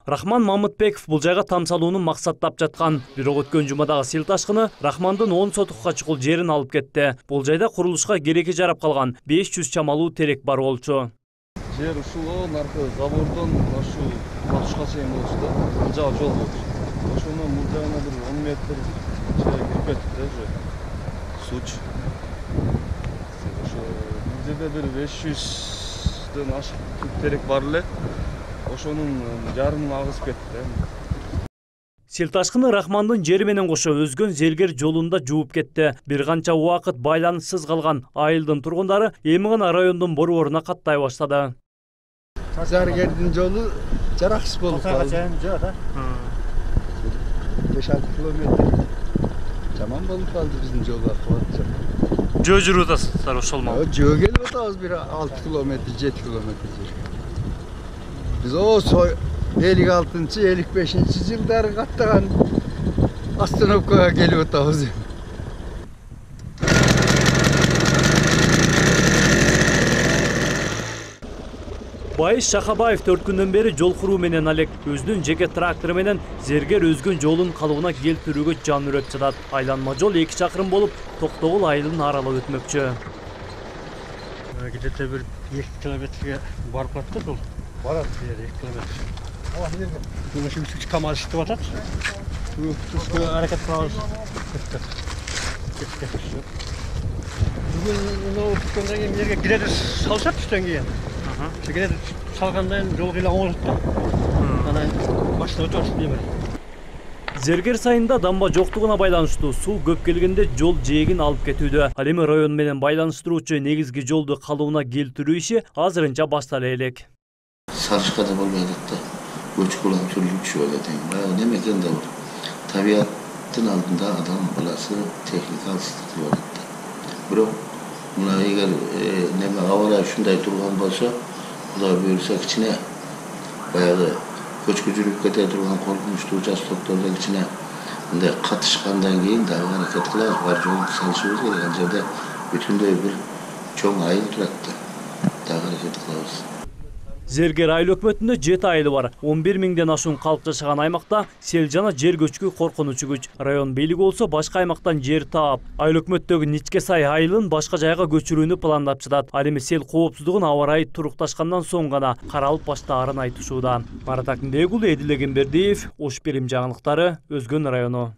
Рахман Мамытбеков бул жайга тамсалууну максаттап жаткан. Бирок өткөн жумадагы сел ташкыны Рахмандын 10 сотукка чукул жерин алып кетти. Бул жайда курулушка кереги жарап калган 500 чамалуу терек бар болчу. Жер ушул наркы забордон ошол батышка чейин болчу да. Бул жагы жол болчу. Ошону бул жагына бир 10 метр жер кирип кетти да уже. Суч. Ошо бул жерде бир 500дөн ашык терек бар эле. Ошонун жарымын агызып кетти да. Сел ташкыны Рахмандын жери менен кошо өзгөн зергер жолунда жууп кетти. Бир канча убакыт байланыссыз калган айылдын тургундары эми гана райондун борборуна каттай баштады. Зергердин жолу жараксыз болуп калды. 5-6 километр жаман болуп калды биздин жол акыбаты. Жөө жүрүп атасыздар ошол ма? Жөө келип атабыз бир 6 километр, 7 километр жер. Biz o 56-55 yılları kattagan Astanovka'ya gelip otağız. Байыш Шахабаев 4 күндөн бери жол куруу менен алек. Өзүнүн жеке трактору менен зергер өзгөн жолун калыбына келтирүүгө жан үрөт жатат. Айланма жол 2 чакырым болуп, Токтогул айылын аралап өтмөкчү. Где-то бир 2 километрге барып калат жол. Барат 2 километр. Мына үчүнчү КАМАЗ иштеп атат. Түшкө аракет кылабыз. Бүгүн мына түшкөндөн кийин жерге гидер салышат түштөн кийин. Гидер салгандан жол кыйла оңолот да. Анан баштап өтөбүз демек. Зергер сайында дамба жоктугуна байланыштуу суу көп келгенде жол жээгин алып кетүүдө. Ал эми район менен байланыштыруучу негизги жолду калыбына келтирүү иши азырынча баштала элек. Sarışkada bolmayacaktı. Göçük olan türlü bir şey öyle değil. Bayağı ne mekan da var. Tabiatın altında adam balası teknik alıştırdı olacaktı. Bro, buna eğer neme havara şunday durgan bolsa, bu da buyursak içine bayağı göçkücülük kete durgan korkmuştu ucaz doktorlar içine katışkandan keyin daha hareket kılaz var yol salışıyoruz gereken yerde bütünde bir çoğun ayıl duraktı. Daha hareket kılaz. Зергер айыл өкмөтүндө 7 айылы бар. 11 миңден ашуун калк жашаган аймакта сел жана жер көчкү коркунучу күч. Район бийлиги болсо башка аймактан жер таап, айыл өкмөттөгү Ничке сай айылын башка жайга көчүрүүнү пландап жатат. Ал эми сел коопсуздугун аба ырайы турукташкандан соң гана каралып баштаарын айтышууда. Марат Акынбекұлы, Эдил Эгембердиев, Ош Берим жаңылыктары, Өзгөн району.